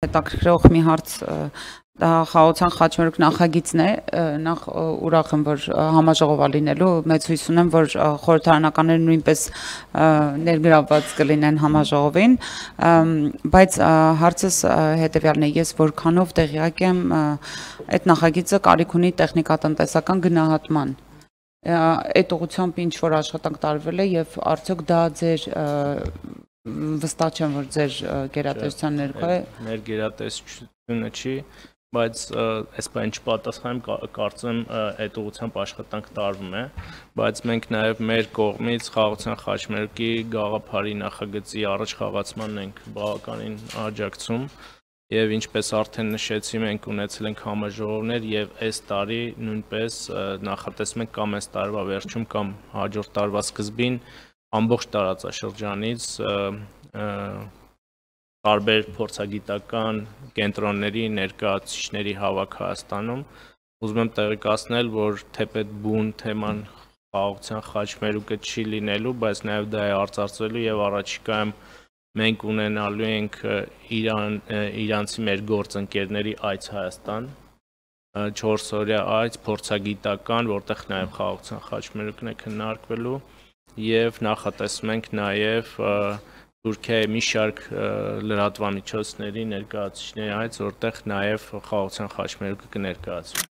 հետաքրքրող մի հարց դա խաղաղության խաչմերուկ նախագիծն է, նախ ուրախ եմ, որ համաժողով է լինելու, մեծ հույս ունեմ, որ խորհրդարանականները նույնպես ներգրավված կլինեն համաժողովին, բայց հարցս հետևյալն է, ես որքանով տեղյակ եմ, այդ նախագիծը կարիք ունի տեխնիկատնտեսական գնահատման, այդ ուղղությամբ ինչ որ աշխատանք տարվել է եւ արդյոք դա ձեր վստահ չեմ, որ ձեր գերատեսչության ներքո է։ Մեր գերատեսչությունը չի, բայց այս բան չպատասխանեմ, կարծեմ այդ ուղղությամբ աշխատանք տարվում է, բայց մենք նաև մեր կողմից խաղաղության խաչմերուկի գաղափարի նախագծի առաջ խաղացմանն ենք բավականին աջակցում եւ ինչպես արդեն նշեցի, մենք ունեցել ենք համաժողովներ եւ այս տարի նույնպես նախատեսում ենք կամ այս տարվա վերջում կամ հաջորդ տարվա սկզբին ամբողջ տարածաշրջանից տարբեր փորձագիտական կենտրոնների ներկայացուցիչների հավաք Հայաստանում, ուզում եմ տեղեկացնել, որ թեպետ բուն թեման խաղաղության խաչմերուկը չի լինելու, բայց նաև դա է արծարծվելու եւ առաջիկայում մենք ունենալու ենք իրանցի մեր գործընկերների այց Հայաստան, 4 օրյա այց փորձագիտական, որտեղ նաև խաղաղության խաչմերուկն է քննարկվելու եւ նախատեսում ենք նաեւ Թուրքիայի մի շարք լրատվամիջոցների ներկայացուցիչների այց, որտեղ նաև խաղաղության խաչմերուկը կներկայացվի։